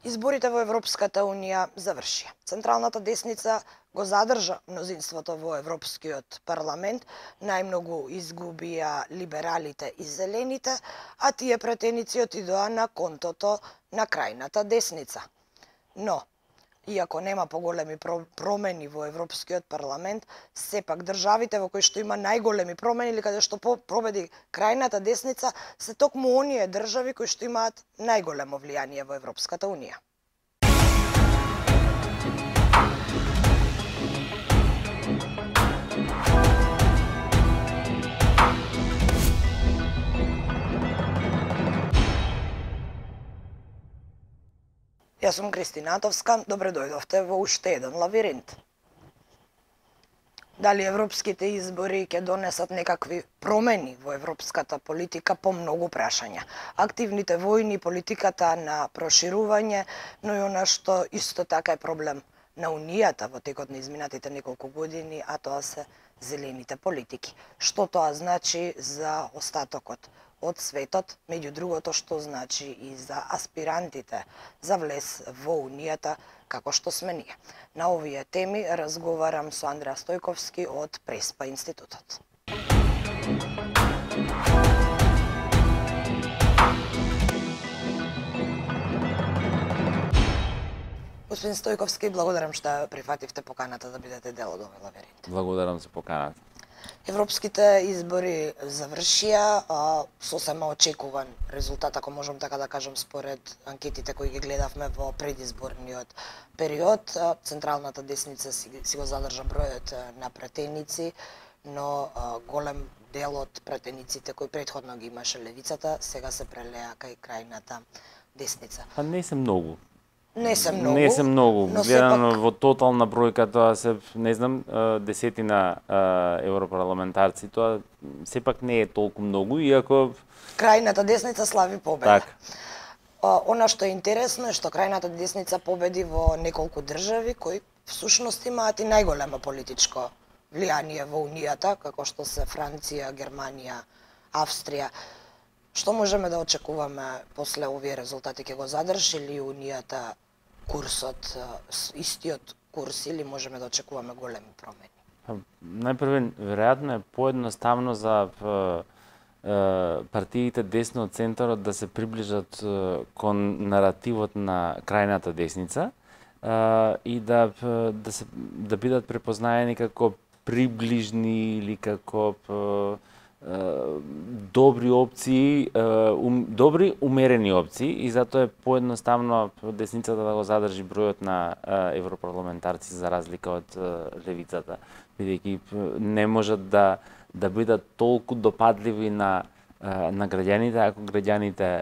Изборите во Европската Унија завршија. Централната десница го задржа мнозинството во Европскиот парламент, најмногу изгубија либералите и зелените, а тие претеници отидоа на контото на крајната десница. Но, иако нема поголеми промени во Европскиот парламент, сепак државите во кои што има најголеми промени или каде што победи крајната десница се токму оние држави кои што имаат најголемо влијание во Европската Унија. Јас сум Кристина Атовска, добре дојдовте во уште еден лавиринт. Дали европските избори ќе донесат некакви промени во европската политика по многу прашања. Активните војни, политиката на проширување, но и она што исто така е проблем на Унијата во текот на изминатите неколку години, а тоа се зелените политики. Што тоа значи за остатокот од светот, меѓу другото што значи и за аспирантите за влез во Унијата, како што сме ние. На овие теми разговарам со Андреа Стојковски од Преспа институтот. Господин Стојковски, благодарам што прифативте поканата да бидете дел од овој лавиринт. Благодарам за поканата. Европските избори завршија, сосема очекуван резултат, ако можам така да кажам, според анкетите кои ги гледавме во предизборниот период. Централната десница си го задржа бројот на претеници, но голем дел од претениците кои претходно ги имаше левицата, сега се прелеа кај крајната десница. А не се многу. Не се многу. Не се многу. Гледано сепак... во тотална бројка тоа се, не знам, десетина европарламентарци, тоа сепак не е толку многу, иако крајната десница слави победа. Так. Она што е интересно е што крајната десница победи во неколку држави кои всушност имаат и најголемо политичко влијание во Унијата, како што се Франција, Германија, Австрија. Што можеме да очекуваме после овие резултати? Ќе го задржи ли Унијата курсот, истиот курс, или можеме да очекуваме големи промени? Најпрвен, веројатно е поедноставно за партиите десно од центарот да се приближат кон наративот на крајната десница и да бидат препознаени како приближни или како добри опции, добри умерени опции, и затоа е поедноставно десницата да го задржи бројот на европарламентарци за разлика од левицата, бидејќи не можат да бидат толку допадливи на граѓаните, ако граѓаните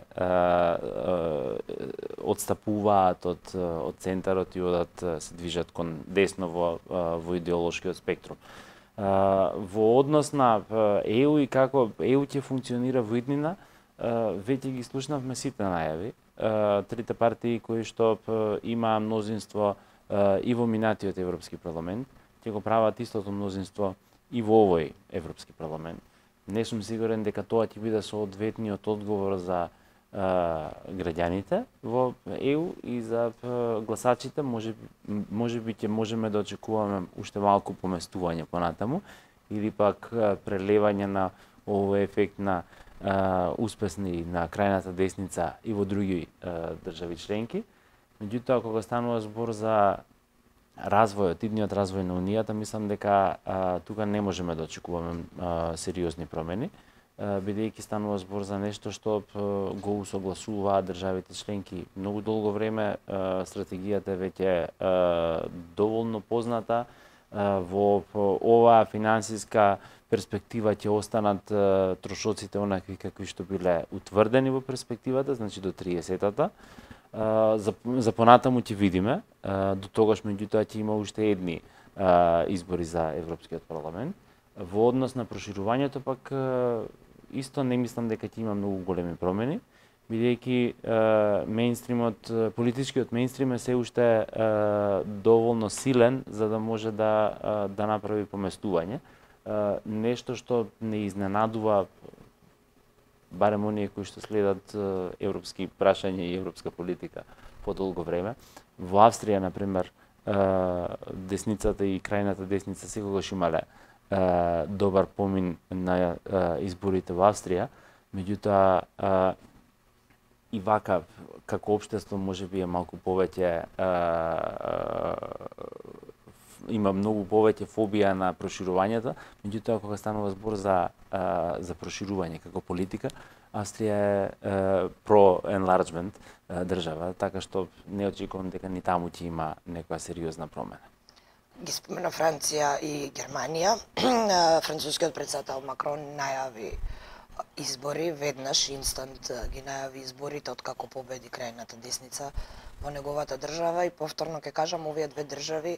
отстапуваат од центарот и одат се движат кон десно во идеолошкиот спектрум. Во однос на ЕУ и како ЕУ ќе функционира во иднина, веќе ги слушнавме сите најави. Трите партии кои што имаа мнозинство и во минатиот Европски парламент, ќе го прават истото мнозинство и во овој Европски парламент. Не сум сигурен дека тоа ќе биде соодветниот одговор за граѓаните во ЕУ и за гласачите. Можеби ќе можеме да очекуваме уште малку поместување понатаму или пак прелевање на овој ефект на успесни на крајната десница и во други држави членки. Меѓутоа, кога станува збор за развојот, идниот развој на Унијата, мислам дека тука не можеме да очекуваме сериозни промени, бидејќи станува збор за нешто што го усогласуваат државите членки многу долго време. Стратегијата веќе е доволно позната. Во оваа финансиска перспектива ќе останат трошоците онакви какви што биле утврдени во перспективата, значи до 30-тата. За понатаму ќе видиме. До тогаш меѓутоа ќе има уште едни избори за Европскиот парламент. Во однос на проширувањето пак исто не мислам дека ќе има многу големи промени, бидејќи мејнстримот, политичкиот мејнстрим е се уште доволно силен за да може да направи поместување. Нешто што не изненадува барем оние кои што следат европски прашања и европска политика подолго време. Во Австрија, на пример, десницата и крајната десница секогаш имале добар помин на изборите во Австрија, меѓутоа и вака како општество можеби е малку повеќе има многу повеќе фобија на проширувањето, меѓутоа кога станува збор за проширување како политика, Австрија е про-enlargement држава, така што не очекувам дека ни таму ќе има некоја сериозна промена. Ги спомена Франција и Германија. Францускиот претседател Макрон најави избори, веднаш инстант ги најави изборите откако победи крајната десница во неговата држава и повторно ќе кажам, овие две држави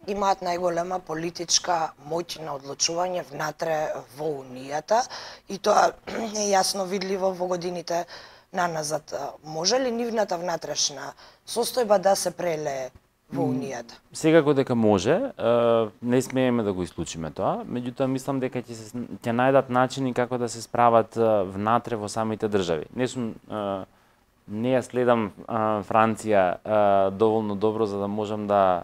имаат најголема политичка моќ на одлучување внатре во Унијата и тоа е јасно видливо во годините наназад. Може ли нивната внатрешна состојба да се прелее во Унијата? Секако дека може, не смееме да го исклучиме тоа, меѓутоа мислам дека ќе најдат начини како да се справат внатре во самите држави. Не ја следам Франција доволно добро за да можам да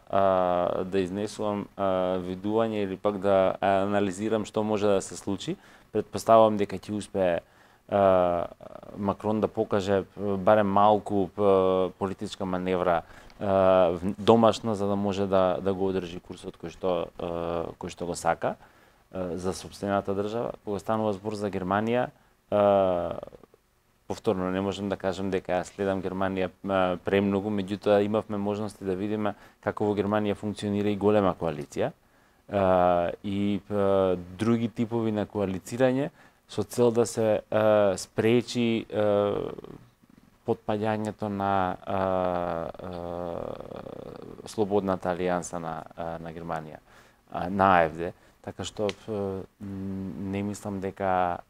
изнесувам видување или пак да анализирам што може да се случи. Претпоставувам дека ќе успее Макрон да покаже барем малку политичка маневра домашна за да може да го одржи курсот кој што го сака за сопствената држава. Кога станува збор за Германија, повторно не можам да кажам дека ја следам Германија премногу, меѓутоа имавме можности да видиме како во Германија функционира и голема коалиција и други типови на коалицирање со цел да се спречи потпаѓањето на слободната алијанса на Германија, на АФД. Така што не мислам дека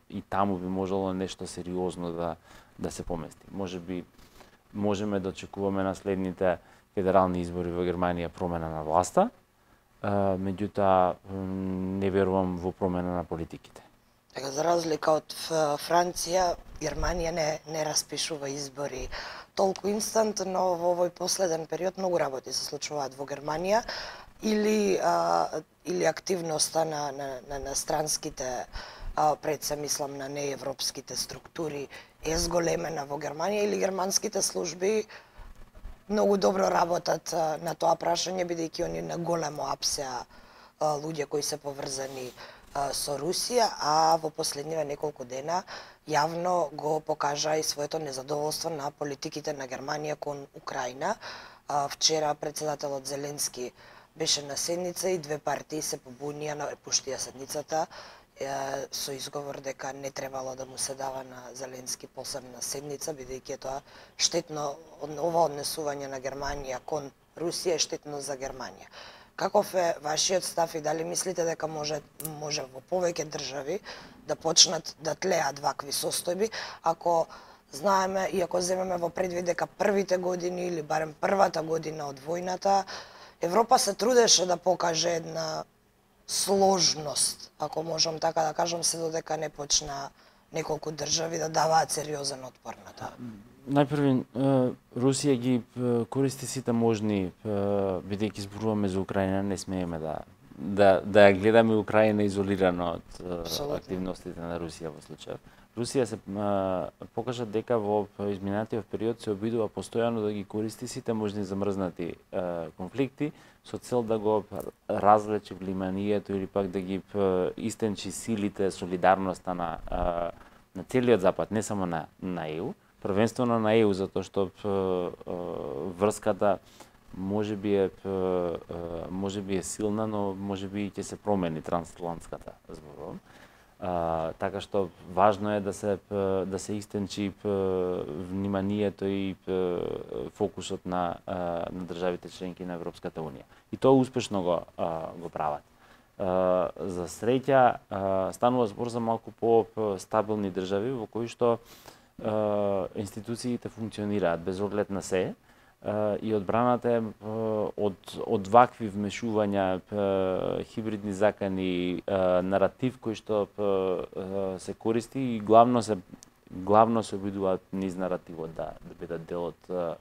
и таму би можело нешто сериозно да се помести. Можеби можеме да очекуваме на следните федерални избори во Германија промена на власта, меѓутоа не верувам во промена на политиките. Така, за разлика од Франција, Германија не распишува избори толку инстант, но во овој последен период многу работи се случуваат во Германија или активноста на странските пред се мислам на неевропските структури е зголемена во Германија или германските служби многу добро работат на тоа прашање, бидејќи они на големо апсеа луѓе кои се поврзани со Русија, а во последниве неколку дена јавно го покажа и своето незадоволство на политиките на Германија кон Украина. Вчера председателот Зеленски беше на седница и две партии се побунија, напуштија седницата со изговор дека не требало да му се дава на Зеленски посебна седница, бидејќи е тоа штетно, ова однесување на Германија кон Русија е штетно за Германија. Каков е вашиот став и дали мислите дека може во повеќе држави да почнат да тлеат вакви состојби, ако знаеме и ако земеме во предвид дека првите години или барем првата година од војната Европа се трудеше да покаже една сложност, ако можам така да кажам, се додека не почна неколку држави да даваат сериозен отпор на тоа. Најпрви, Русија ги користи сите можни, бидејќи зборуваме за Украина, не смееме да ја гледаме Украина изолирано од активностите на Русија во случајов. Русија се покажа дека во изминатиот период се обидува постојано да ги користи сите можни замрзнати конфликти со цел да го развлече вниманието или пак да ги истенчи силите, солидарноста на целиот Запад, не само на ЕУ, првенствено на ЕУ, затоа што врската можеби е силна, но можеби ќе се промени трансатлантската, зборувам. Така што важно е да се истенчи вниманието и фокусот на државите членки на Европската унија. И тоа успешно го прават. За среќа станува збор за малку по-стабилни држави во кои што институциите функционираат без оглед на се и одбраната е од вакви вмешувања, хибридни закани, наратив кој што се користи и главно се главно се обидуваат низ наративот да бидат дел од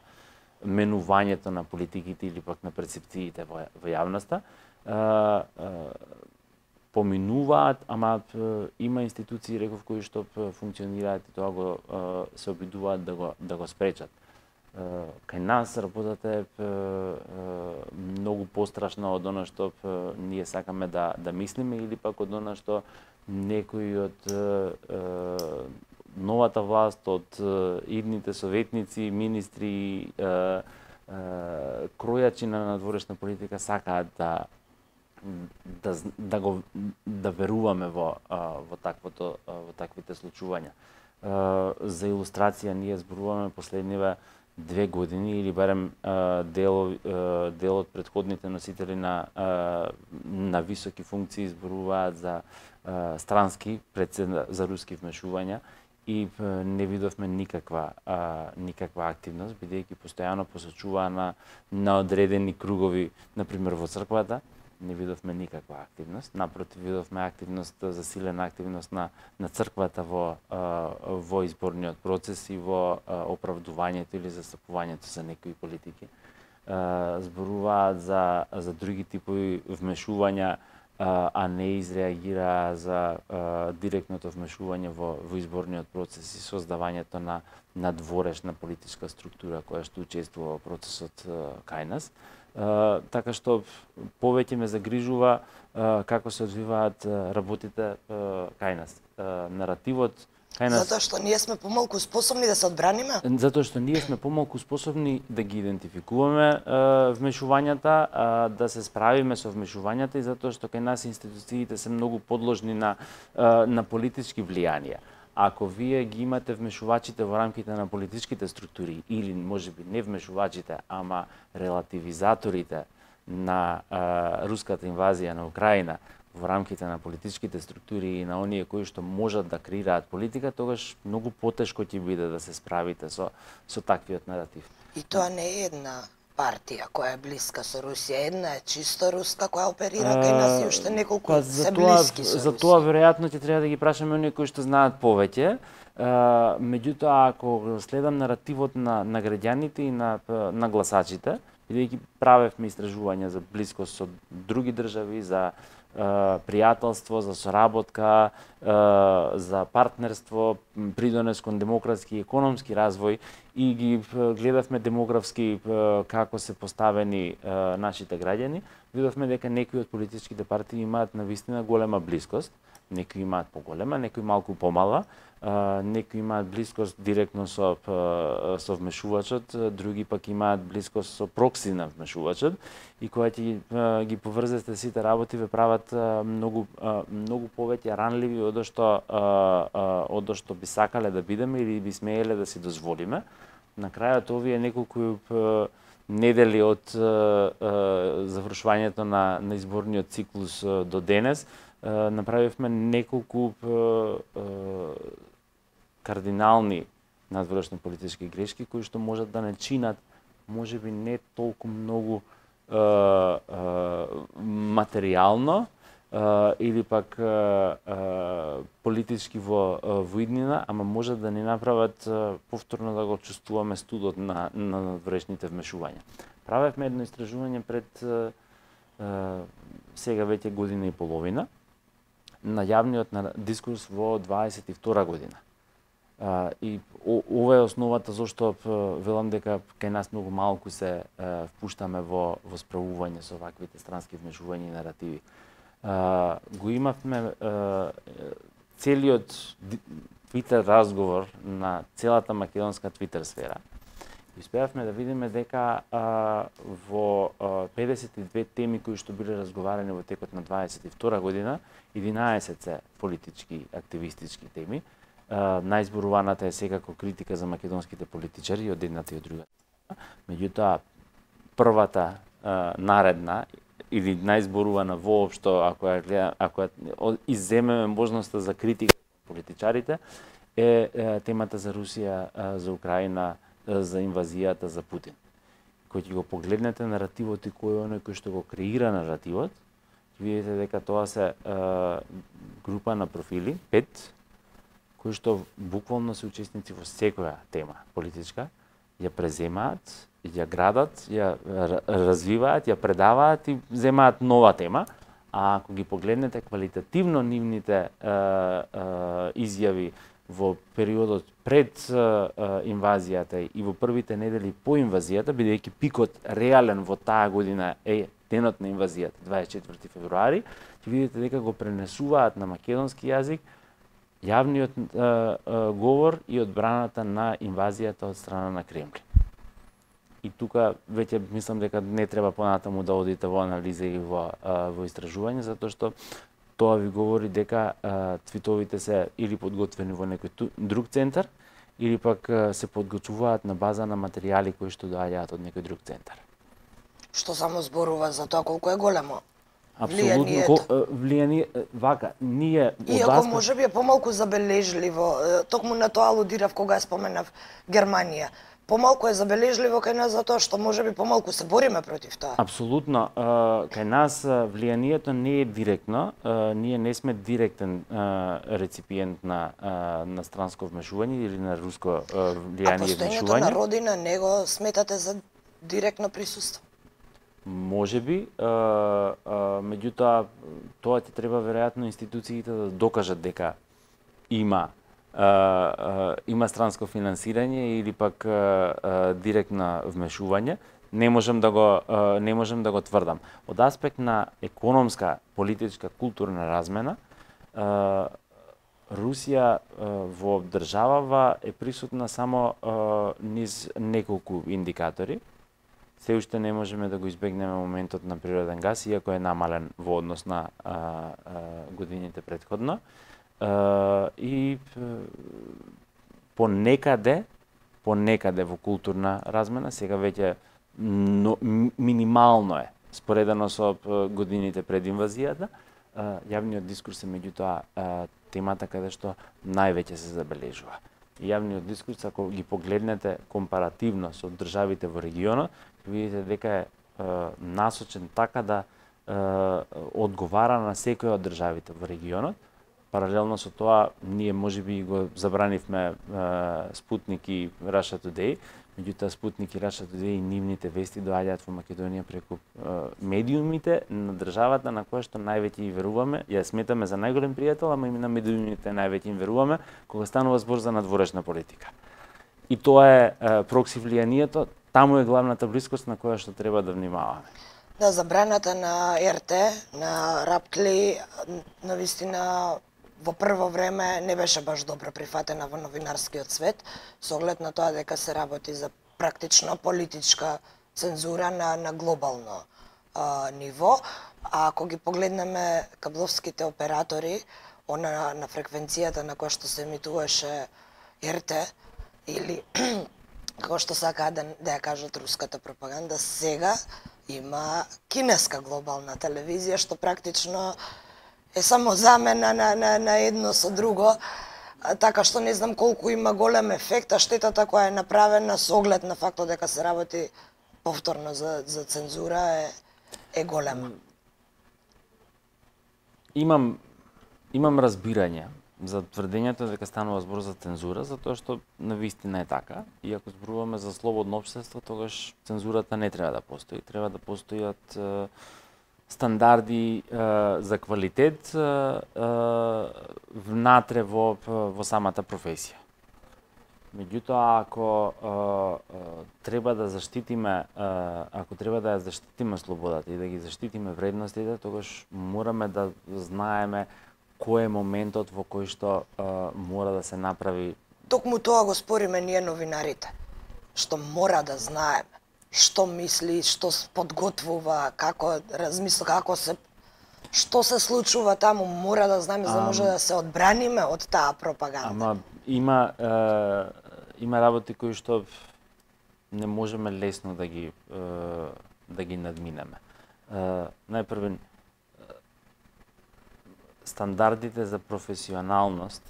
менувањето на политиките или пак на перцепциите во јавноста. Поминуваат, ама има институции, реков, кои што функционираат и тоа го се обидуваат да го спречат. Кај нас работата е многу пострашна од она што ние сакаме да мислиме или пак од она што некои од новата власт, од идните советници, министри, кројачи на надворешна политика сакаат да веруваме во таквите случувања. За илустрација ние зборуваме последниве 2 години или барем дел од претходните носители на високи функции зборуваат за странски за руски вмешувања и не видовме никаква активност, бидејќи постојано посочуваа на одредени кругови, например во црквата, не видовме никаква активност. Напротив, видовме активност, засилена активност на црквата во изборниот процес и во оправдувањето или застапувањето за некои политики. Зборуваат за други типови вмешувања, а не изреагираа за директното вмешување во изборниот процес и создавањето на дворешна политичка структура која што учествува во процесот кај нас. Така што повеќе ме загрижува како се одвиваат работите кај нас. Наративот кај нас... Затоа што ние сме помалку способни да се одбраниме? Затоа што ние сме помалку способни да ги идентификуваме вмешувањата, да се справиме со вмешувањата и затоа што кај нас институциите се многу подложни на политички влијанија. Ако вие ги имате вмешувачите во рамките на политичките структури или можеби не вмешувачите, ама релативизаторите на руската инвазија на Украина во рамките на политичките структури и на оние кои што можат да креираат политика, тогаш многу потешко ќе биде да се справите со таквиот наратив. И тоа не е една партија која е блиска со Русија, една е чисто руска која оперира кај нас и уште неколку се блиски со Русија. За тоа веројатно ќе треба да ги прашаме оние кои што знаат повеќе. Меѓутоа, ако следам наративот на граѓаните и на гласачите, бидејќи правевме истражувања за блискост со други држави, за пријателство, за соработка, за партнерство, придонес кон демократски и економски развој и ги гледавме демографски како се поставени нашите граѓани, видовме дека некои од политичките партии имаат навистина голема блискост, некои имаат поголема, некои малку помала, некои имаат блискост директно со вмешувачот, други пак имаат блискост со прокси на вмешувачот и кога ќе ги поврзете сите работи ве прават многу повеќе ранливи од што би сакале да бидеме или би смееле да си дозволиме. На крајот овие неколку недели од завршувањето на изборниот циклус до денес направивме неколку кардинални надворешни политички грешки кои што можат да не чинат можеби не толку многу материјално или пак политички во иднина, ама можат да ни направат повторно да го чувствуваме студот на надворешните вмешувања. Правевме едно истражување пред сега веќе година и половина на јавниот дискурс во 22 година. И ова е основата зашто велам дека кај нас многу малку се впуштаме во справување со ваквите странски вмешувања и наративи. Го имавме целиот Твитер разговор на целата македонска Твитер сфера. Успеавме да видиме дека во 52 теми кои што биле разговарани во текот на 22 година, 11 се политички, активистички теми. Најзборуваната е секако критика за македонските политичари од едната и од другата. Меѓутоа, првата наредна или најзборувана воопшто, ако изземеме можноста за критика на политичарите, е темата за Русија, за Украина, за инвазијата, за Путин. Кој ќе го погледнете наративот и кој е оној кој што го креира наративот, ќе видите дека тоа се група на профили, 5, кои што буквално се учесници во секоја тема политичка, ја преземаат, ја градат, ја развиваат, ја предаваат и земаат нова тема, а ако ги погледнете квалитативно нивните изјави во периодот пред инвазијата и во првите недели по инвазијата, бидејќи пикот реален во таа година е денот на инвазијата, 24 февруари, ќе видите дека го пренесуваат на македонски јазик јавниот говор и одбраната на инвазијата од страна на Кремљ. И тука веќе мислам дека не треба понатаму да одите во анализа и во истражување, затоа што тоа ви говори дека твитовите се или подготвени во некој друг центар, или пак се подготвуваат на база на материјали кои што доаѓаат од некој друг центар. Што само зборува за тоа колку е големо апсолутно влијание, вака, ние иако можеби е помалку забележливо, токму на тоа алудирав кога ја споменав Германија. Помалку е забележливо кај нас затоа што можеби помалку се бориме против тоа. Апсолутно, кај нас влијанието не е директно, ние не сме директен реципиент на странско вмешување или на руско влијание и вмешување. А постоењето на родина не го сметате за директно присуство? Можеби, меѓутоа тоа ќе треба веројатно институциите да докажат дека има странско финансирање или пак директно вмешување. Не можам да го тврдам. Од аспект на економска, политичка, културна размена, Русија во државава е присутна само низ неколку индикатори. Се уште не можеме да го избегнеме моментот на природен газ, иако е намален во однос на годините претходно. И понекаде во културна размена, сега веќе минимално е, споредено со годините пред инвазијата, јавниот дискурс е меѓутоа темата каде што највеќе се забележува. Јавниот дискурс, ако ги погледнете компаративно со државите во регионот, видите дека е насочен така да одговара на секоја од државите во регионот. Паралелно со тоа, ние можеби го забранивме Спутник и Russia Today, меѓутоа Спутник и Russia Today и нивните вести доаѓаат во Македонија преку медиумите на државата на која што највеќе и веруваме. Ја сметаме за најголем пријател, ама и на медиумите највеќе им веруваме кога станува збор за надворешна политика. И тоа е прокси влијанието, таму е главната блискост на која што треба да внимаваме. Да, забраната на РТ, на Рапкли, навистина во прво време не беше баш добро прифатена во новинарскиот свет, со оглед на тоа дека се работи за практично политичка цензура на глобално ниво. А ако ги погледнеме кабловските оператори, на фреквенцијата на која што се емитуваше РТ, или како што сакаат да ја кажат руската пропаганда, сега има кинеска глобална телевизија, што практично е само замена на едно со друго, така што не знам колку има голем ефект, а штетата која е направена со оглед на фактот дека се работи повторно за цензура е голема. Имам разбирање за тврдењето дека станува збор за цензура, затоа што навистина е така. И ако зборуваме за слободно општество, тогаш цензурата не треба да постои. Треба да постојат стандарди за квалитет внатре во самата професија. Меѓутоа, ако треба да ја заштитиме слободата и да ги заштитиме вредностите, тогаш мораме да знаеме кој е моментот во кој што мора да се направи. Токму тоа го спориме ние новинарите, што мора да знаеме што мисли, што подготвува, како размисла, што се случува таму, мора да знаеме за да може да се одбраниме од таа пропаганда. Ама има работи кои што не можеме лесно да ги надминеме. Најпрво, стандардите за професионалност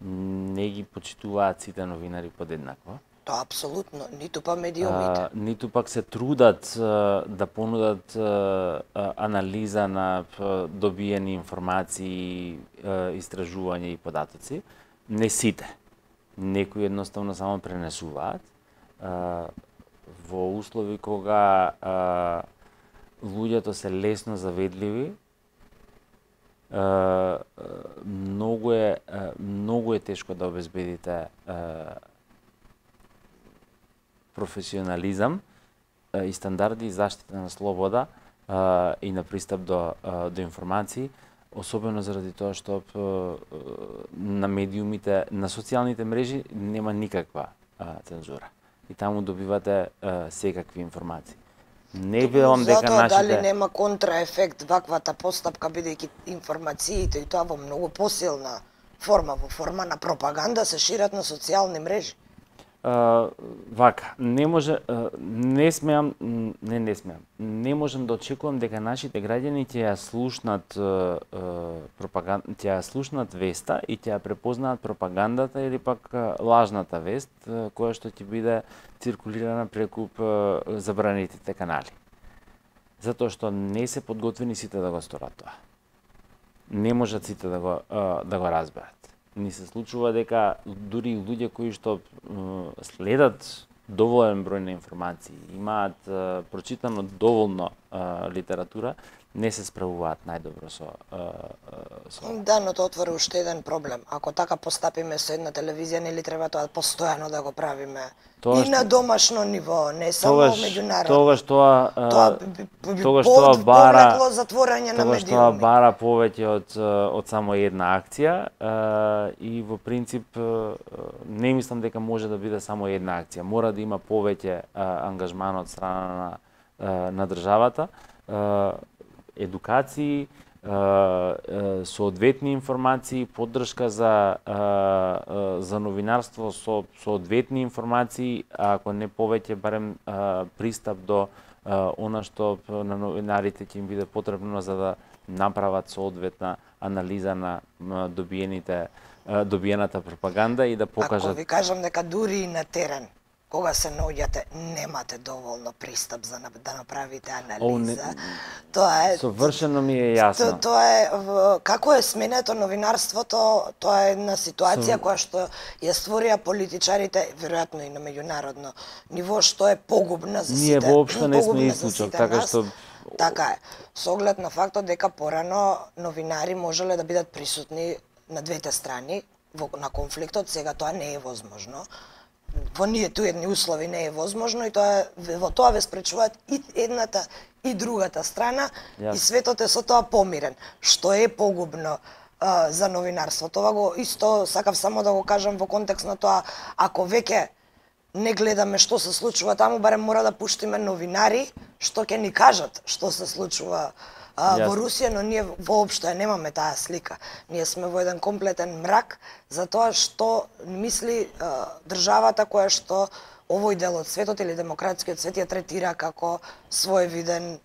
не ги почитуваат сите новинари подеднакво. Тоа апсолутно, ниту па медиумите. Ниту пак се трудат да понудат анализа на добиени информации, истражувања и податоци. Не сите. Некои едноставно само пренесуваат. Во услови кога луѓето се лесно заведливи, многу е тешко да обезбедите професионализам и стандарди и заштита на слобода и на пристап до информации, особено заради тоа што на медиумите, на социјалните мрежи нема никаква цензура. И таму добивате секакви информации. Не велам дека нашите... Дали нема контраефект ваквата постапка, бидејќи информациите и тоа во многу посилна форма, во форма на пропаганда, се шират на социјални мрежи? Вака, не можам да очекувам дека нашите граѓани ќе ја слушнат пропаганда, ќе ја слушнат веста и ќе ја препознаат пропагандата или пак лажната вест која што ќе биде циркулирана преку забранетите канали. Затоа што не се подготвени сите да го сторат тоа. Не можат сите да го разберат. Ни се случува дека дури и луѓе кои што следат доволен број на информации, имаат прочитано доволно литература, не се справуваат најдобро со Да, но тоа отвори уште еден проблем. Ако така постапиме со една телевизија, нели треба тоа постојано да го правиме и на домашно ниво, не само меѓународно. Тогаш тоа бара затворање на медиуми. Тоа бара повеќе од само една акција и во принцип не мислам дека може да биде само една акција. Мора да има повеќе ангажман од страна на државата, едукации, соодветни информации, поддршка за новинарство со соодветни информации, ако не повеќе, барем пристап до она што на новинарите ќе им биде потребно за да направат соодветна анализа на добиената пропаганда и да покажат. Ако ви кажам дека дури и на терен, кога се наоѓате, немате доволно пристап за да направите анализа. Тоа е совршено ми е јасно. Тоа е како е сменето новинарството, тоа е една ситуација која што ја створија политичарите, веројатно и на меѓународно ниво, што е погубна за сите. Ние воопшто не сме исклучок, така што така е. Со оглед на фактот дека порано новинари можеле да бидат присутни на двете страни на конфликтот, сега тоа не е возможно. Во ние туедни услови не е возможно и во тоа ве спречуваат и едната и другата страна и светот е со тоа помирен, што е погубно за новинарството. Тоа го исто сакав само да го кажам во контекст на тоа, ако веќе не гледаме што се случува таму, барем мора да пуштиме новинари што ќе ни кажат што се случува во Русија, но ние воопшто ја немаме таа слика. Ние сме во еден комплетен мрак за тоа што мисли државата која што овој дел од светот или демократскиот свет ја третира како своевиден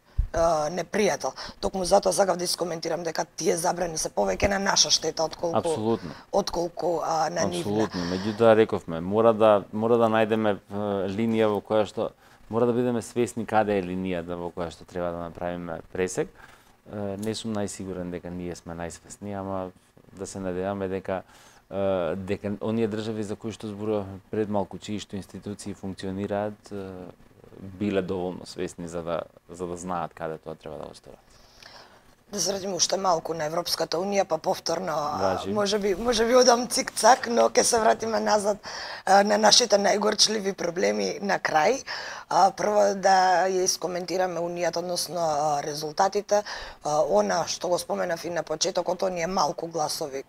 непријател. Токму затоа сакав да искоментирам дека тие забрани се повеќе на наша штета отколку на нивна. Апсолутно. Меѓутоа рековме, мора да најдеме линија во која што мора да бидеме свесни каде е линијата во која што треба да направиме пресек. Не сум најсигурен дека ние сме најсвесни, ама да се надеваме дека оние држави за кои што зборувавме пред малку, чии што институции функционираат, биле доволно свесни за да знаат каде тоа треба да го сторат. Да се вратиме уште малку на Европската Унија, па повторно, може би одам цик-цак, но ќе се вратиме назад на нашите најгорчливи проблеми на крај. Прво да ја искоментираме Унијата, односно резултатите. Она што го споменав и на почетокот, оние малку гласови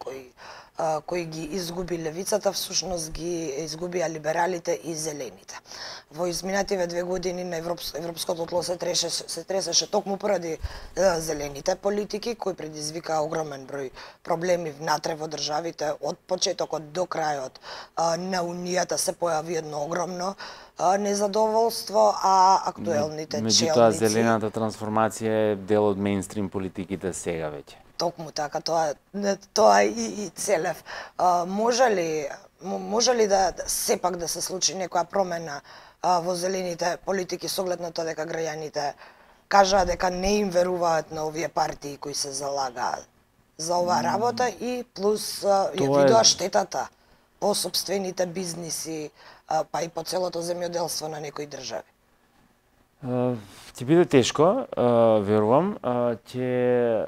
кои ги изгуби левицата, всушност ги изгубија либералите и зелените. Во изминативе 2 години на европското тло се тресеше токму поради зелените политики, кои предизвикаа огромен број проблеми внатре во државите. Од почетокот до крајот на Унијата се појави едно огромно незадоволство, а актуелните челници... Меѓутоа, зелената трансформација е дел од мејнстрим политиките сега веќе. Токму така, тоа и целев. Може ли да сепак да се случи некоја промена во зелените политики со оглед на тоа дека граѓаните кажаа дека не им веруваат на овие партии кои се залагаат за оваа работа и плюс ја видоа штетата по сопствените бизниси, па и по целото земјоделство на некои држави? Ќе биде тешко, верувам, ќе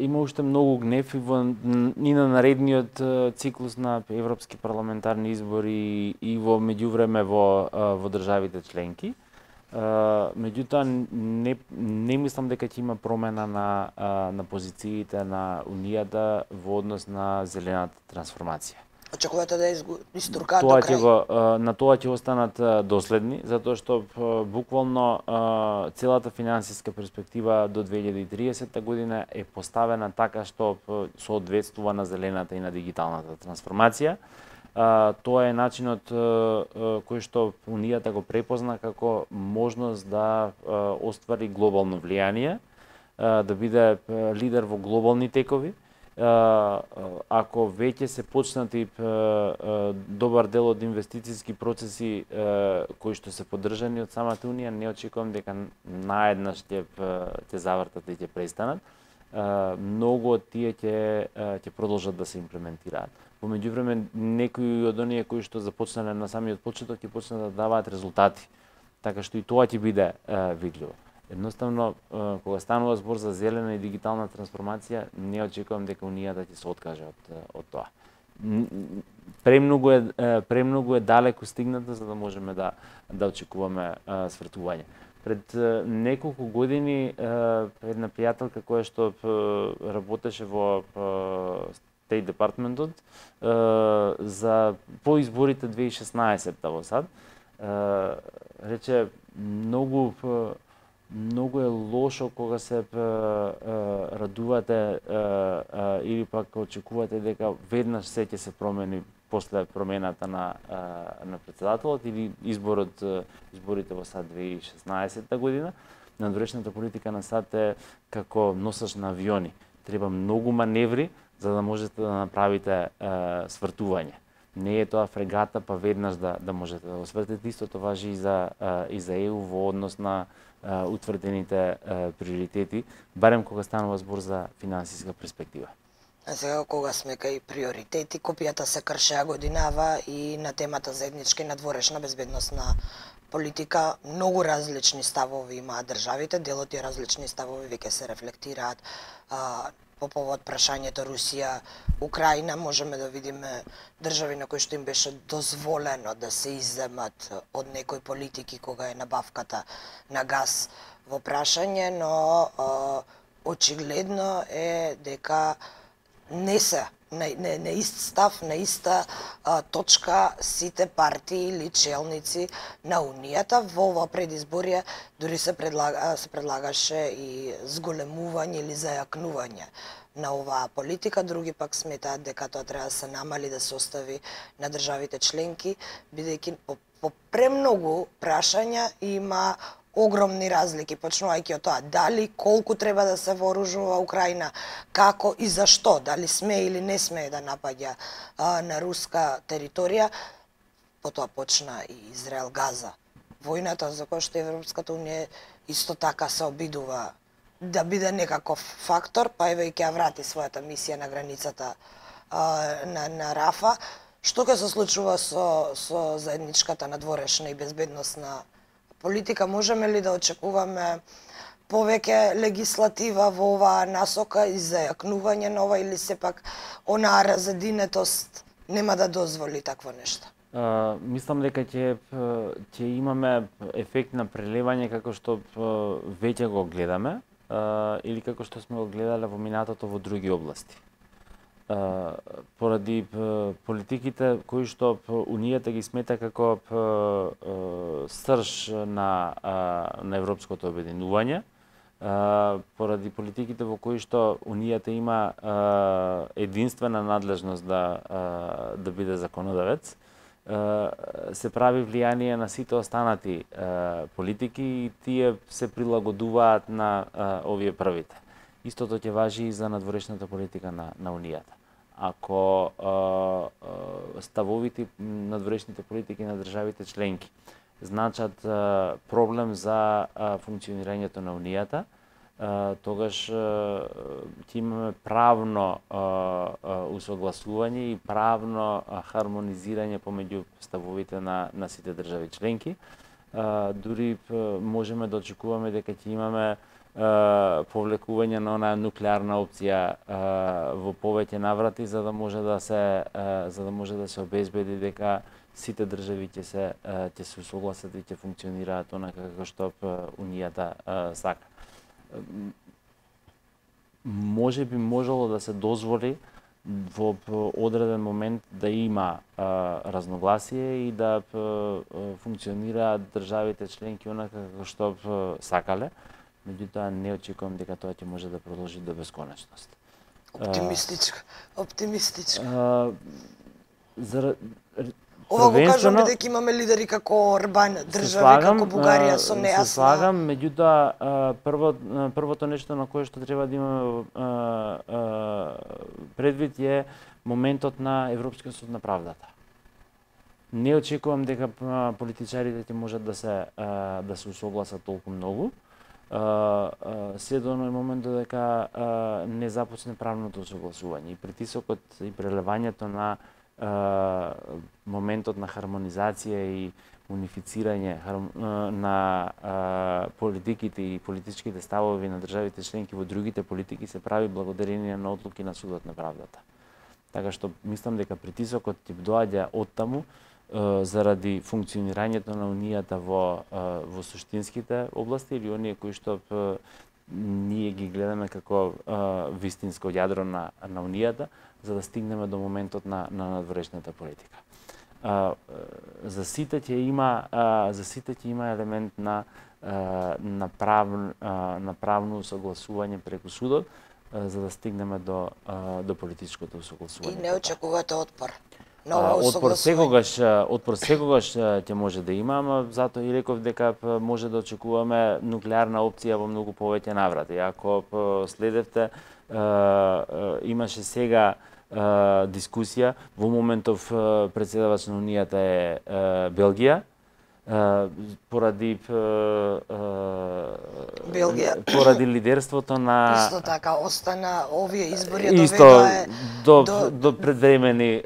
има уште многу гнев и на наредниот циклус на европски парламентарни избори и во меѓувреме во државите членки. Меѓутоа не мислам дека ќе има промена на позициите на Унијата во однос на зелената трансформација. Очекувате да истуркаат до крај? На тоа ќе останат доследни, затоа што буквално целата финансиска перспектива до 2030 година е поставена така што соодветствува на зелената и на дигиталната трансформација. Тоа е начинот кој што Унијата го препозна како можност да оствари глобално влијание, да биде лидер во глобални текови. Ако веќе се почнати добар дел од инвестициски процеси кои што се поддржани од самата Унија, не очекувам дека наеднаш ќе завртат и ќе престанат. Многу од тие ќе продолжат да се имплементираат. Во меѓувреме, некои од оние кои што започнале на самиот почеток ќе почнат да даваат резултати, така што и тоа ќе биде видливо. Едноставно, кога станува збор за зелена и дигитална трансформација, не очекувам дека Унијата ќе се откаже од тоа. Премногу е далеку стигната за да можеме да очекуваме свртување. Пред неколку години една пријателка која што работеше во State Department за по изборите 2016 во САД, рече многу е лошо кога се радувате или пак очекувате дека веднаш се ќе се промени после промената на претседателот или изборите во САД 2016 година. Надворешната политика на САД е како носач на авиони. Треба многу маневри за да можете да направите свртување. Не е тоа фрегата па веднаш да можете да го свртите. Истото важи и за ЕУ во однос на утврдените приоритети, барем кога станува збор за финансиска перспектива. А сега кога сме кај приоритети, копијата се кршеа годинава и на темата заедничка и надворешна безбедносна политика многу различни ставови имаат државите, дел од тие различни ставови веќе се рефлектираат по повод прашањето Русија, Украина. Можеме да видиме држави на кои што им беше дозволено да се изземат од некои политики кога е набавката на газ во прашање, но очигледно е дека не се на ист став, на иста точка сите партии или челници на Унијата. Во ова предизборие дури се предлагаше и зголемување или зајакнување на оваа политика. Други пак сметаат дека тоа треба да се намали, да се остави на државите членки, бидејќи по премногу прашања има огромни разлики, почнувајќи од тоа дали колку треба да се вооружува Украина, како и зашто, дали сме или не сме да напаѓа на руска територија. Потоа почна и Израел Газа. Војната за која што Европската унија исто така се обидува да биде некаков фактор, па еве и ќе ја врати својата мисија на границата на Рафа. Што ќе се случува со заедничката надворешна и безбедносна политика? Можеме ли да очекуваме повеќе легислатива во оваа насока и зајакнување нова, или сепак онаа разединетост нема да дозволи такво нешто? Мислам дека ќе имаме ефект на прелевање како што веќе го гледаме или како што сме го гледале во минатото во други области. Поради политиките кои што Унијата ги смета како срж на европското обединување, поради политиките во кои што Унијата има единствена надлежност да биде законодавец, се прави влијание на сите останати политики и тие се прилагодуваат на овие првите. Истото ќе важи и за надворешната политика на Унијата. Ако ставовите надворешните политики на државите членки значат проблем за функционирањето на Унијата, тогаш ќе имаме правно усогласување и правно хармонизирање помеѓу ставовите на сите држави членки. Дури можеме да очекуваме дека ќе имаме повлекување на онаа нуклеарна опција во повеќе наврати, за да може да се обезбеди дека сите држави ќе се согласат и ќе функционираат онака како што Унијата сака. Може би можело да се дозволи во одреден момент да има разногласие и да функционираат државите членки онака како што сакале, меѓутоа не очекувам дека тоа ќе може да продолжи до бесконечност. Оптимистичко. Ова го кажам бидејќи имаме лидери како Орбан, држави како Бугарија со нејасна. Се слагам, меѓутоа првото нешто на кое што треба да имаме предвид е моментот на Европскиот суд на правдата. Не очекувам дека политичарите ќе можат да се усогласат толку многу. Се до оној момент додека не започне правното согласување и притисокот и прелевањето на моментот на хармонизација и унифицирање на политиките и политичките ставови на државите членки во другите политики се прави благодарение на одлуки на Судот на правдата. Така што мислам дека притисокот ќе доаѓа оттаму заради функционирањето на Унијата во суштинските области или оние кои што ние ги гледаме како вистинско јадро на Унијата, за да стигнеме до моментот на надворешната политика. За сите ќе има елемент на правно усогласување преку судот, за да стигнеме до политичкото усогласување. И не очекувате отпор? Отпор секогаш ќе може да има, ама затоа и реков дека може да очекуваме нуклеарна опција во многу повеќе наврати. Ако следевте, имаше сега дискусија, во моментов председавач на Унијата е Белгија, поради лидерството на... Исто така, остана овие избори, до предвремени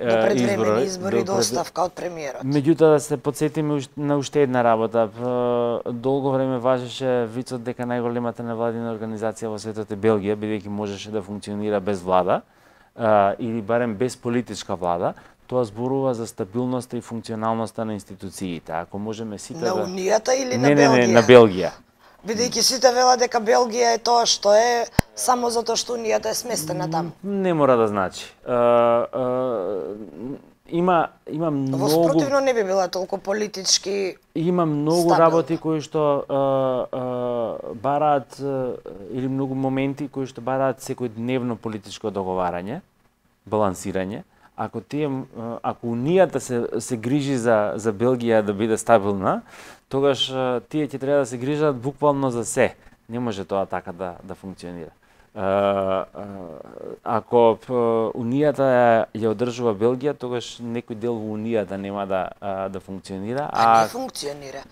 избори, до оставка од премиерот. Меѓутоа, да се подсетиме на уште една работа. Долго време важеше вицот дека најголемата невладина организација во светот е Белгија, бидејќи можеше да функционира без влада, или барем без политичка влада. Тоа зборува за стабилноста и функционалноста на институциите. Ако можеме сите на Унијата или на Белгија? Не, на Белгија. Бидејќи сите велат дека Белгија е тоа што е, само затоа што Унијата е сместена таму. Не мора да значи. Има многу... Во спротивно не би била толку политички Има многу стабилна работи кои што бараат, или многу моменти кои што бараат секојдневно политичко договарање, балансирање. Ако Унијата се грижи за Белгија да биде стабилна, тогаш тие ќе треба да се грижат буквално за се. Не може тоа така да функционира. Ако Унијата ја одржува Белгија, тогаш некој дел во Унијата нема да функционира. Не функционира.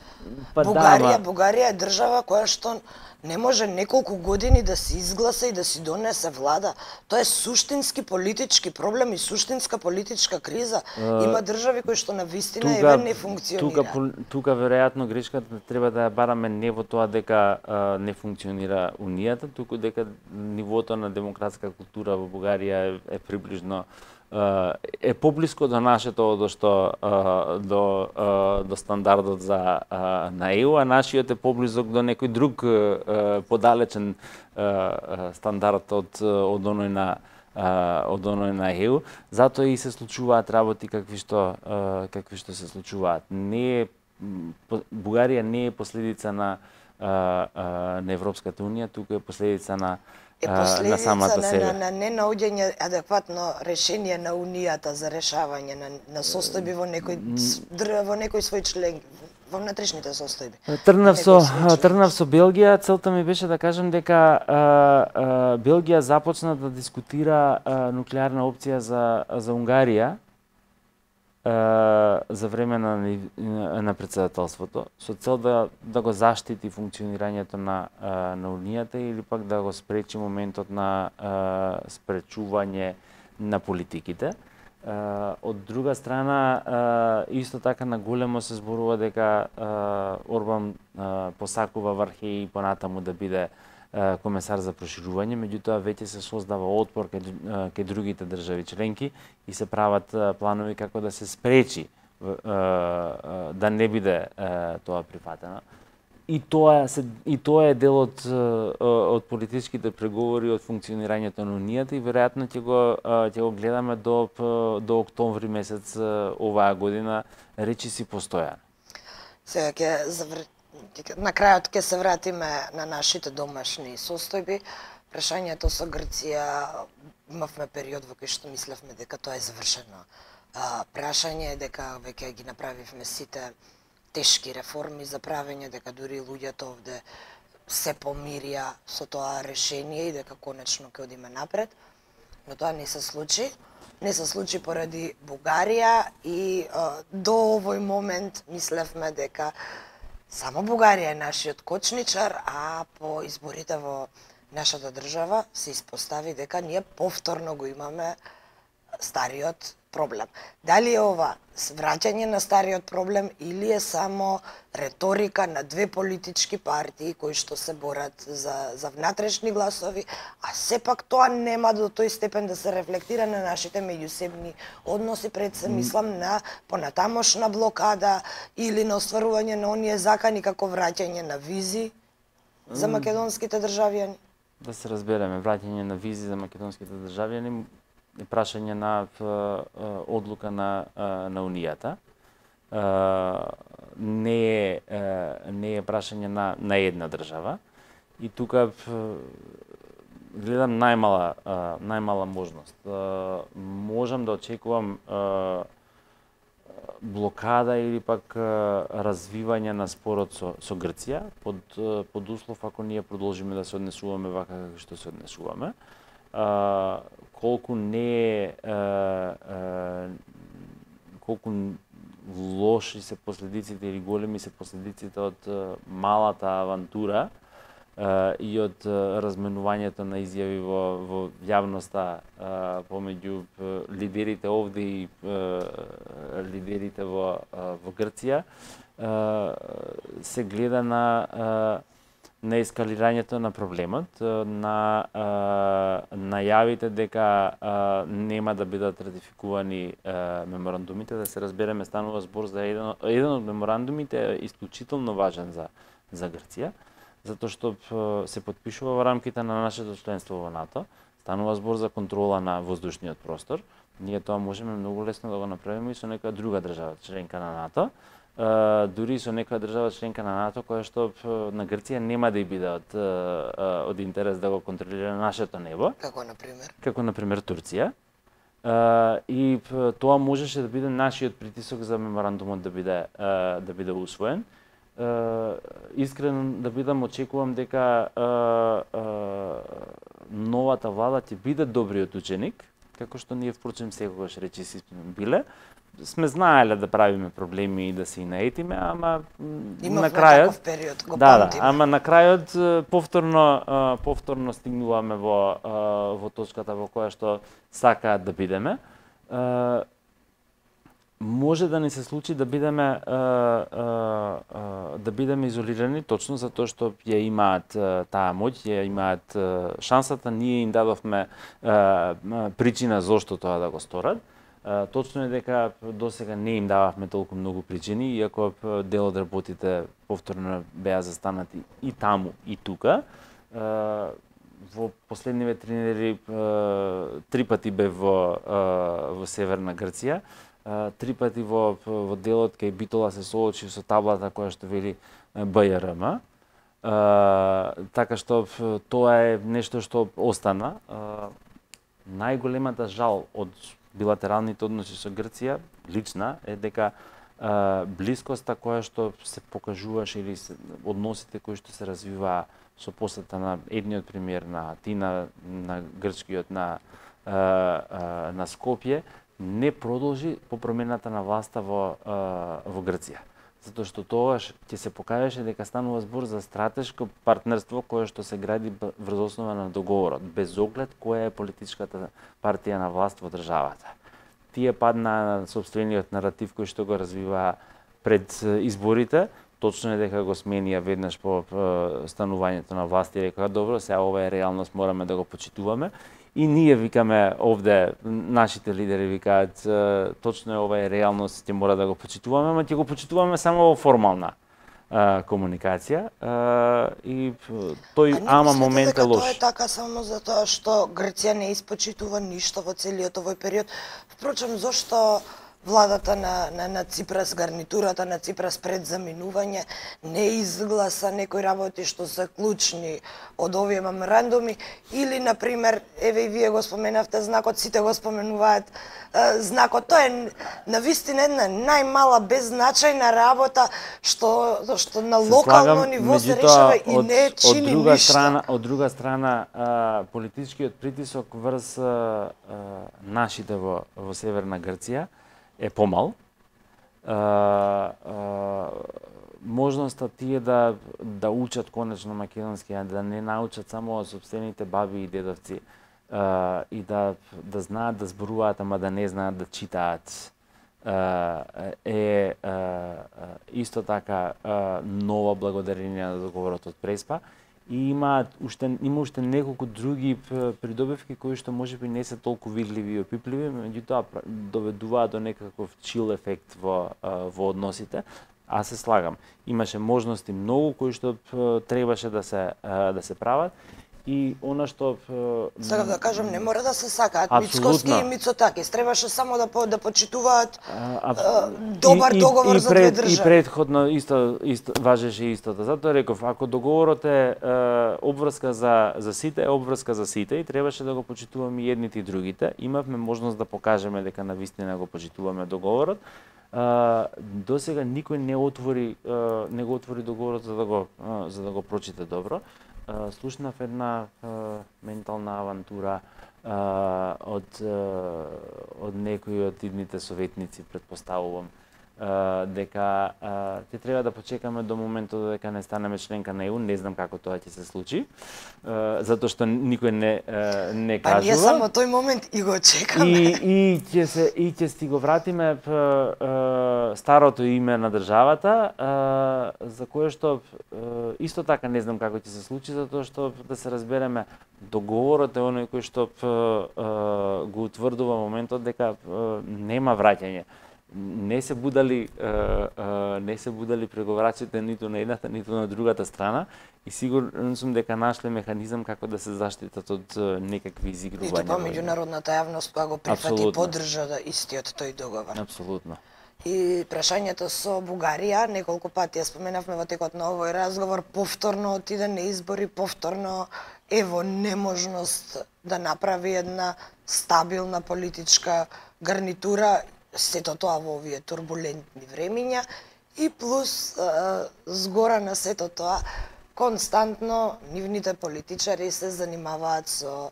Бугарија е држава која што не може неколку години да се изгласа и да си донесе влада. Тоа е суштински политички проблем и суштинска политичка криза. Има држави кои што навистина не функционира. Тука веројатно грешката треба да ја бараме не во тоа дека не функционира Унијата, туку дека нивото на демократска култура во Бугарија е приближно е поблиско до нашето до стандардот на ЕУ, а нашиот е поблизок до некој друг подалечен стандард од оној на ЕУ. Затоа и се случуваат работи какви што се случуваат. Бугарија не е последица на Европската унија, туку е последица на самата себе. На ненаоѓање адекватно решение на Унијата за решавање на состојби во некој свој член, во внатрешните состојби. Тргнав со Белгија, целта ми беше да кажам дека Белгија започна да дискутира нуклеарна опција за Унгарија за време на председателството, со цел да го заштити функционирањето на Унијата или пак да го спречи моментот на спречување на политиките. Од друга страна, исто така на големо се зборува дека Орбан посакува Вархеј понатаму да биде комесар за проширување, меѓутоа веќе се создава отпор кај другите држави членки и се прават планови како да се спречи да не биде тоа прифатено. И тоа е дел од политичките преговори, од функционирањето на Унијата и веројатно ќе го гледаме до октомври месец оваа година, речиси постојано. Сега на крајот ќе се вратиме на нашите домашни состојби. Прашањето со Грција, имавме период во кој што мислевме дека тоа е завршено прашање, дека веќе ги направивме сите тешки реформи за правење, дека дури луѓето овде се помирија со тоа решение и дека конечно ќе одиме напред. Но тоа не се случи. Не се случи поради Бугарија и до овој момент мислевме дека само Бугарија е нашиот кочничар, а по изборите во нашата држава се испостави дека ние повторно го имаме стариот проблем. Дали е ова враќање на стариот проблем или е само реторика на две политички партии кои што се борат за внатрешни гласови, а сепак тоа нема до тој степен да се рефлектира на нашите меѓусебни односи, пред се мислам на понатамошна блокада или на остварување на оние закани како враќање на визи за македонските државјани. Да се разбереме, враќање на визи за македонските државјани е прашање на одлука на Унијата. Не е прашање на една држава. И тука гледам најмала можност. Можам да очекувам блокада или пак развивање на спорот со Грција под услов ако ние продолжиме да се однесуваме вака како што се однесуваме. Колку лоши се последиците или големи се последиците од малата авантура и од разменувањето на изјави во јавноста помеѓу лидерите овде и лидерите во Грција, се гледа на ескалирањето на проблемот, на најавите дека нема да бидат ратификувани меморандумите. Да се разбереме, станува збор за еден од меморандумите е исклучително важен за Грција, затоа што се потпишува во рамките на нашето членство во НАТО. Станува збор за контрола на воздушниот простор. Ние тоа можеме многу лесно да го направиме и со некоја друга држава членка на НАТО. Дури со некоја држава членка на НАТО која што на Грција нема да биде од интерес да го контролира нашето небо. Како на пример Турција. И тоа можеше да биде нашиот притисок за меморандумот да биде усвоен. Искрено да бидам, очекувам дека новата влада ќе биде добриот ученик, како што ние впрочем секогаш речиси сме биле. Сме знаеле да правиме проблеми и да се наетиме, ама на крајот период го ама на крајот повторно стигнуваме во точката во која што сакаат да бидеме. Може да ни се случи да бидеме изолирани точно затоа што ја имаат таа моќ, ја имаат шансата, ние им дадовме причина зошто тоа да го сторат. Точно е дека досега не им дававме толку многу причини, иако дел од работите повторно беа застанати и таму и тука. Во последниве 3 недели 3 пати бев во северна Грција. 3 пати во делот кај Битола се соочи со таблата која што вели БЈРМ. Така што тоа е нешто што остана. Најголемата жал од билатералните односи со Грција, лична, е дека блискоста која што се покажуваше или односите кои што се развиваа со посета на едниот премиер на Атина, на грчкиот на Скопје, не продолжи по промената на власта во Грција. Затоа што тогаш ќе се покажеше дека станува збор за стратешко партнерство кое што се гради врз основа на договорот, без оглед која е политичката партија на власт во државата. Тие падна на собствениот наратив кој што го развива пред изборите, точно е дека го сменија веднаш по станувањето на власт и рекоа добро, сега ова е реалност, мораме да го почитуваме. И ние викаме овде, нашите лидери викаат, точно е ова е реалност, ќе мора да го почитуваме, ама ќе го почитуваме само во формална комуникација и тој момент е лош. Тоа е така само затоа што Грција не испочитува ништо во целиот овој период. Впрочем, зошто владата на Ципрас, гарнитурата на Ципрас пред заминување не изгласа некои работи што се клучни од овие меморандуми или, например, еве и вие го споменавте знакот, сите го споменуваат знакот. Тоа е навистина една најмала беззначајна работа што на локално ниво се решава и не чини ништо. Од друга страна, политичкиот притисок врз нашите во Северна Грција е помал. Можноста тие да учат конечно македонски, да не научат само од собствените баби и дедовци и да знаат да зборуваат, ама да не знаат да читаат, е исто така нова благодарение на договорот од Преспа. И има уште неколку други придобивки кои што можеби не се толку видливи и опипливи, меѓутоа доведуваат до некаков чил ефект во односите. Аз се слагам. Имаше можности многу кои што требаше да се прават. И она што сакам да кажам, не мора да се сакаат Мицкоски и Мицотакис, требаше само да почитуваат добар договор за две држави. И претходно исто важеше истото. Затоа реков, ако договорот е обврска за сите, е обврска за сите и требаше да го почитуваме и едните и другите. Имавме можност да покажеме дека навистина го почитуваме договорот. Досега никој не го отвори договорот за да го прочита добро. Слушнав една ментална авантура од некои од идните советници, предпоставувам, дека ќе треба да почекаме до моментот дека не станеме членка на ЕУ. Не знам како тоа ќе се случи, затоа што никој не кажува. Па ние само тој момент и го чекаме. И ќе си го вратиме старото име на државата, за кое што исто така не знам како ќе се случи, затоа што да се разбереме, договорот е оној кој што го утврдува моментот дека нема враќање. Не се будали преговарачите ниту на едната, ниту на другата страна и сигурен сум дека нашле механизам како да се заштитат од некакви изигрувања. И тоа меѓународната јавност која го прифати и поддржа истиот тој договор. Апсолутно. И прашањето со Бугарија, неколку пати ја споменавме во текот на овој разговор, повторно отиде на избори, повторно ево неможност да направи една стабилна политичка гарнитура, сето тоа во овие турбулентни времиња и плюс згора на сето тоа константно нивните политичари се занимаваат со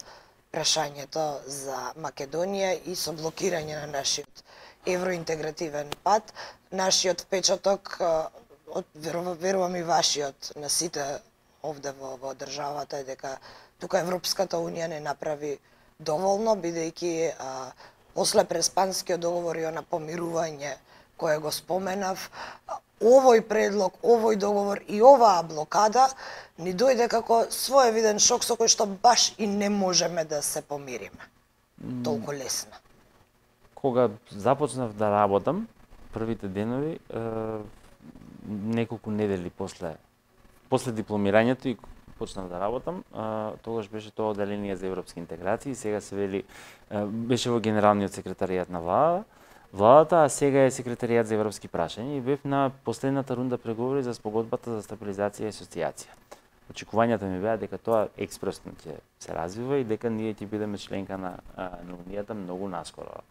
прашањето за Македонија и со блокирање на нашиот евроинтегративен пат. Нашиот впечаток, верувам и вашиот, на сите овде во државата е дека тука Европската Унија не направи доволно, бидејќи после Преспанскиот договор и на помирување кое го споменав, овој предлог, овој договор и оваа блокада ни дојде како своевиден шок со кој што баш и не можеме да се помириме толку лесно. Кога започнав да работам, првите денови, неколку недели после дипломирањето и почнав да работам, тогаш беше тоа одделение за европски интеграции, сега се вели беше во генералниот секретаријат на владата, а сега е секретаријат за европски прашања и бев на последната рунда преговори за спогодбата за стабилизација и асоциација. Очекувањата ми беа дека тоа експресно ќе се развива и дека ние ќе бидеме членка на Унијата многу наскоро.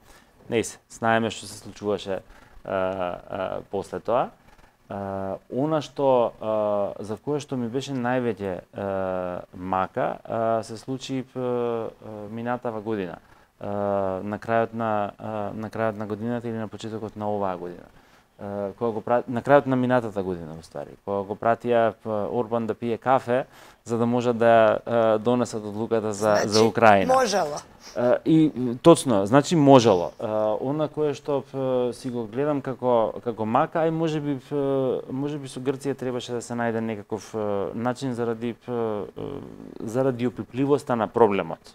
Не се, знаеме што се случуваше после тоа. Она што за кое што ми беше највеќе мака се случи минатава година. На крајот на годината или на почетокот на оваа година. На крајот на минатата година, уствари, кога го пратија Орбан да пие кафе, за да може да донесат одлуката за Украина. Можело. И точно, значи можело. Она кое што си го гледам како мака, ај можеби со Грција требаше да се најде некаков начин заради опипливоста на проблемот.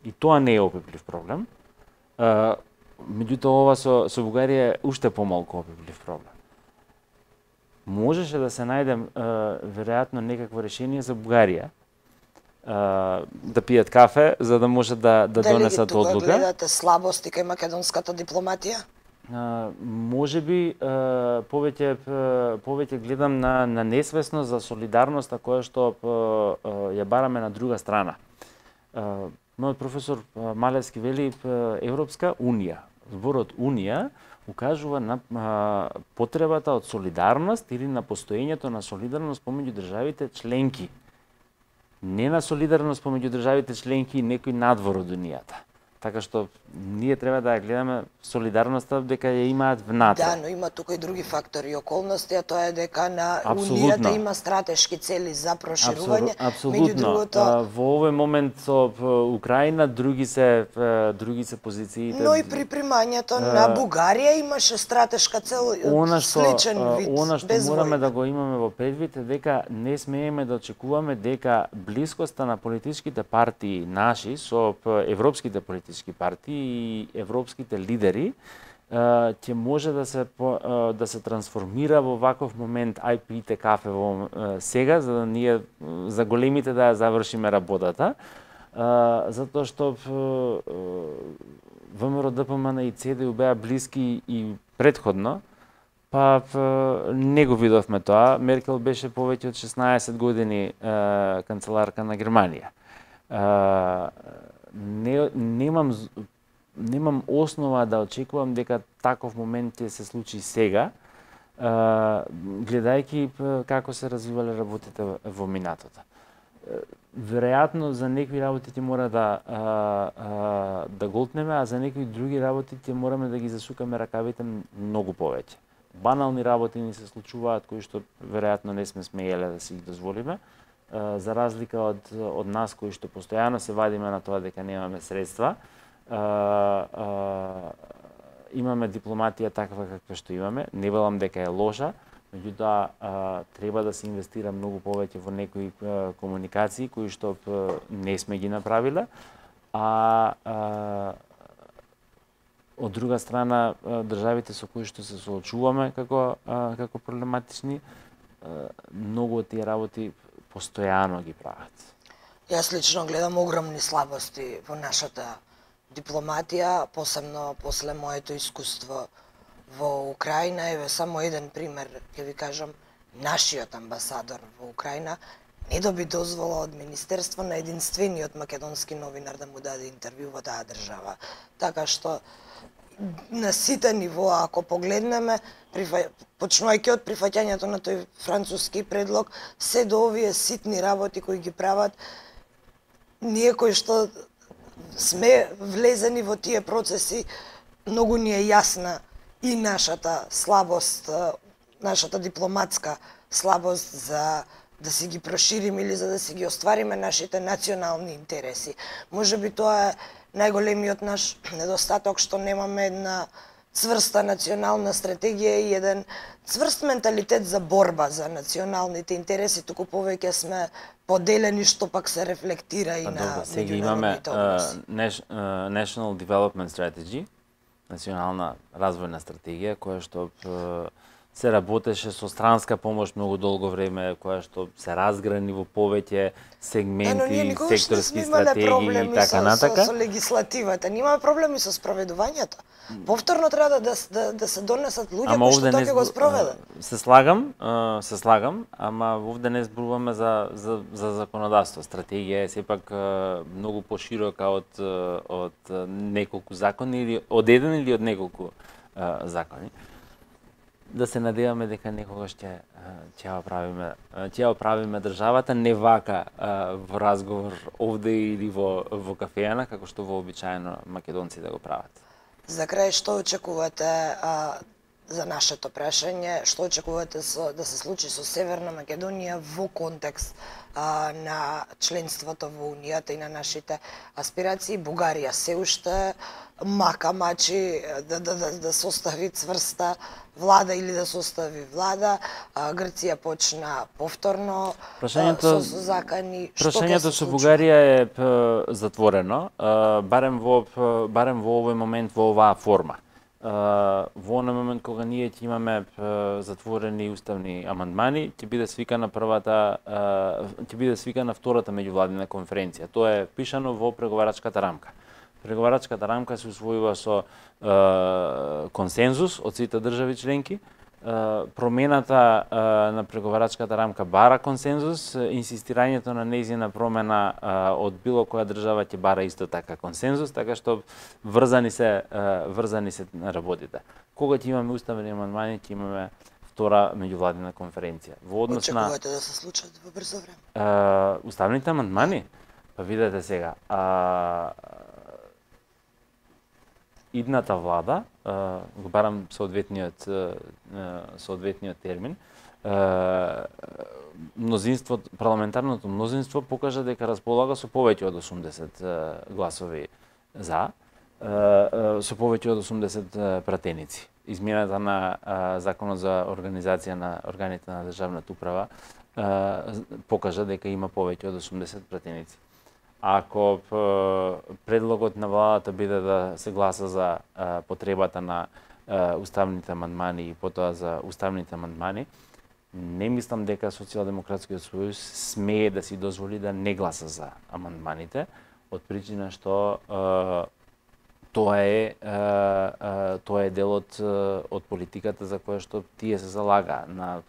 И тоа не е опиплив проблем. Меѓутоа, ова со Бугарија е уште помалку опиплив проблем. Можеше да се најде веројатно некакво решение за Бугарија, да пијат кафе, за да може да донесат одлука. Дали гледате слабости кај македонската дипломатија? Можеби повеќе гледам на несвесност за солидарноста која што ја бараме на друга страна. Мојот професор Малевски вели Европска унија. Зборот унија укажува на потребата од солидарност или на постоењето на солидарност помеѓу државите членки. Не на солидарност помеѓу државите членки и некој надвор од унијата. Така што ние треба да ја гледаме солидарноста дека ја имаат внатре. Да, но има тука и други фактори и околности, а тоа е дека на унијата има стратешки цели за проширување. Меѓу другото, во овој момент со Украина други се позициите. Но и при примањето на Бугарија имаше стратешка цел, сличен вид. Она што мораме да го имаме во предвид е дека не смееме да очекуваме дека блискоста на политичките партии наши со европските политички партии и европските лидери ќе може да се трансформира во ваков момент, ај пијте кафе во сега, за да ние за големите да ја завршиме работата, затоа што ВМРО, ДПМН и ЦДУ беа блиски и предходно, па не го видовме тоа. Меркел беше повеќе од 16 години канцеларка на Германија. Немам основа да очекувам дека таков момент ќе се случи сега, гледајќи како се развивале работите во минатото. Веројатно за некои работи ќе мора да голтнеме, а за некои други работи ќе мораме да ги засукаме ракавите многу повеќе. Банални работи ни се случуваат кои што веројатно не сме смееле да си ги дозволиме, за разлика од нас кои што постојано се вадиме на тоа дека немаме средства. Имаме дипломатија таква каква што имаме, не велам дека е лоша, меѓутоа треба да се инвестира многу повеќе во некои комуникации кои што не сме ги направиле, од друга страна државите со кои што се соочуваме како проблематични, многу од тие работи постојано ги прават. Јас лично гледам огромни слабости во нашата дипломатија, посебно после моето искуство во Украина. Еве само еден пример, ќе ви кажам, нашиот амбасадор во Украина не доби дозвола од Министерство на единствениот македонски новинар да му даде интервју во таа држава. Така што на сите нивоа, ако погледнеме, почнувајќи од прифаќањето на тој француски предлог, се до овие ситни работи кои ги прават, ние кои што сме влезени во тие процеси, многу ни е јасна и нашата слабост, нашата дипломатска слабост за да си ги прошириме или за да си ги оствариме нашите национални интереси. Можеби тоа е најголемиот наш недостаток, што немаме една цврста национална стратегија и еден цврст менталитет за борба за националните интереси, туку повеќе сме поделени, што пак се рефлектира и на меѓународните односи. National Development Strategy, национална развојна стратегија, која што се работеше со странска помош многу долго време, која што се разграни во повеќе сегменти, секторски стратегии и така натака. Со легислативата, немаме проблеми со спроведувањето. Повторно треба да се донесат луѓе кои што тоа ќе го спроведат. Се слагам, ама овде не зборуваме за законодавство. Стратегија е сепак многу поширока од неколку закони или од еден или од неколку закони. Да се надеваме дека некогаш ќе ја оправиме државата не вака во разговор овде или во кафејана како што вообичаено македонците го прават. За крај, што очекувате за нашето прашање, што очекувате да се случи со Северна Македонија во контекст на членството во Унијата и на нашите аспирации? Бугарија се уште мачи да состави цврста влада или да состави влада. Грција почна повторно со закани. Прашањето со Бугарија е затворено, барем во овој момент во оваа форма. Во оној момент кога ние ќе имаме затворени уставни амандмани, ќе биде свикана втората меѓувладина конференција. Тоа е пишано во преговарачката рамка. Преговарачката рамка се усвојува со консензус од сите држави членки. Промената на преговарачката рамка бара консензус, инсистирањето на нејзина промена од било која држава ќе бара исто така консензус, така што врзани се работите. Кога ќе имаме уставни амандмани, ќе имаме втора меѓувладина конференција. Во однос на очекувате да се случат во брзо време? Уставните амандмани? Па видете сега, идната влада, го барам соодветниот термин, парламентарното мнозинство покажа дека располага со повеќе од 80 гласови за, со повеќе од 80 пратеници. Измената на Законот за организација на органите на државната управа покажа дека има повеќе од 80 пратеници. Ако предлогот на владата биде да се гласа за потребата на уставните амандмани и потоа за уставните амандмани, не мислам дека Социјалдемократскиот сојуз смее да си дозволи да не гласа за амандманите, од причина што тоа е дел од политиката за која што тие се залага на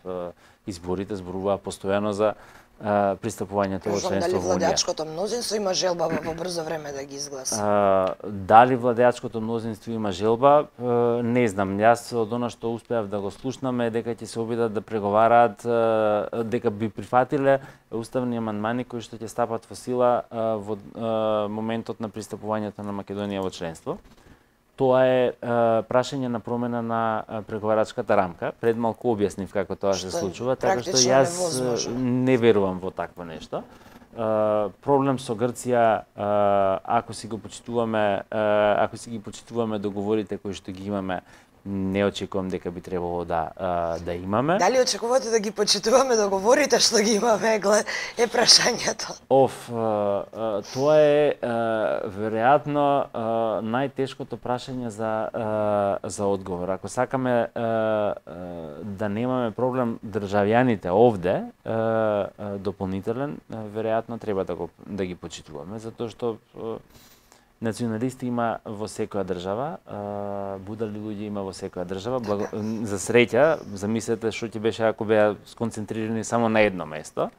изборите, зборуваа постојано за пристапувањето во членство во Унија. Дали владеачкото мнозинство има желба во брзо време да ги изгласа? Дали владеачкото мнозинство има желба, не знам. Јас од она што успеав да го слушнаме дека ќе се обидат да преговараат, дека би прифатиле уставни амандмани кои што ќе стапат во сила во моментот на пристапувањето на Македонија во членство. Тоа е прашање на промена на преговарачката рамка. Пред малку објаснив како тоа се случува, така што јас не верувам во такво нешто. Проблем со Грција, ако си ги почитуваме договорите кои што ги имаме, не очекувам дека би требало да имаме. Дали очекувате да ги почитуваме договорите што ги имаме, е прашањето. Тоа е веројатно најтешкото прашање за одговор. Ако сакаме да немаме проблем државјаните овде, дополнителен, веројатно треба да ги почитуваме, затоа што националисти има во секоја држава, будали луѓе има во секоја држава. За среќа, замислете што ќе беше ако беа сконцентрирани само на едно место.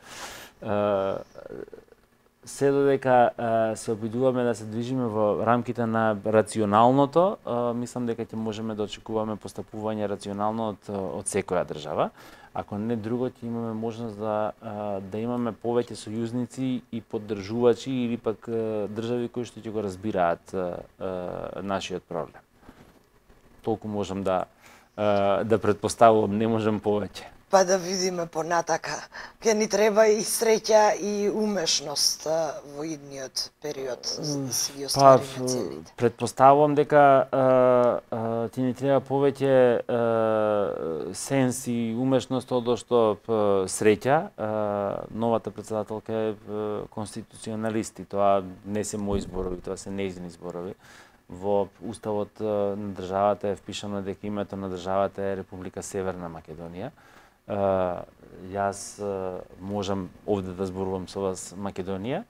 Се додека се обидуваме да се движиме во рамките на рационалното, мислам дека ќе можеме да очекуваме постапување рационално од секоја држава. Ако не друго, ќе имаме можност да имаме повеќе сојузници и поддржувачи или пак држави кои што ќе го разбираат нашиот проблем. Толку можам да претпоставувам, не можам повеќе. Па да видиме понатака. Ке ни треба и среќа и умешност во идниот период за да си ги оствариме целите. Претпоставувам дека ти ни треба повеќе сенс и умешност од што среќа. Новата претседателка е конституционалист и тоа не се мои зборови, тоа се нејзини зборови. Во уставот на државата е впишано дека името на државата е Република Северна Македонија. Јас можам овде да зборувам со вас Македонија,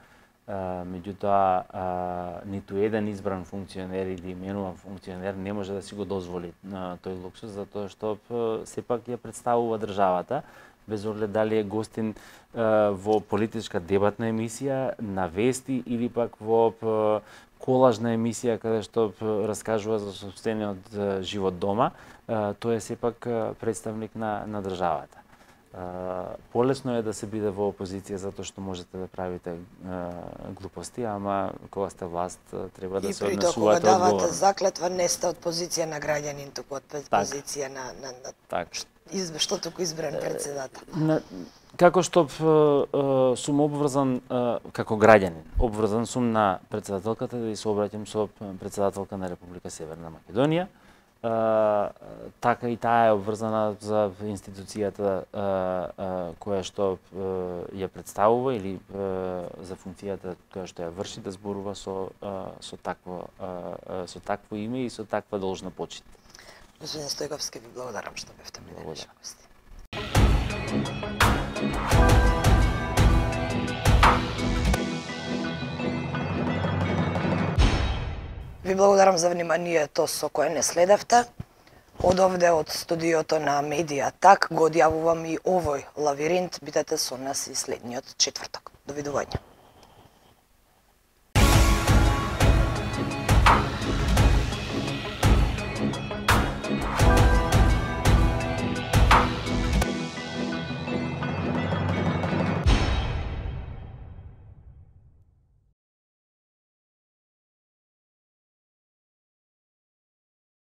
меѓутоа ниту еден избран функционер или именуван функционер не може да си го дозволи тој луксус, затоа што сепак ја представува државата, без оглед дали е гостин во политичка дебатна емисија, на вести или пак во колажна емисија каде што раскажува за сопствениот живот дома, тој е сепак представник на државата. Полесно е да се биде во опозиција затоа што можете да правите глупости, ама кога сте власт треба да се однесувате одговорно. И при тоа кога давате заклетва не сте од позиција на граѓанин, туку од позиција на што туку избран председател. Како што сум обврзан како граѓанин, обврзан сум на председателката да се обраќам со председателка на Република Северна Македонија. Така и таа е обврзана за институцијата која што ја представува или за функцијата која што ја врши да зборува со такво име и со таква должна почит. Господин Стојковски, ви благодарам што бевте ми денешни гости. Ви благодарам за вниманието со кое не следевте. Од овде, од студиото на Медија Так, го одјавувам и овој лавиринт. Бидете со нас и следниот четврток. Довидување.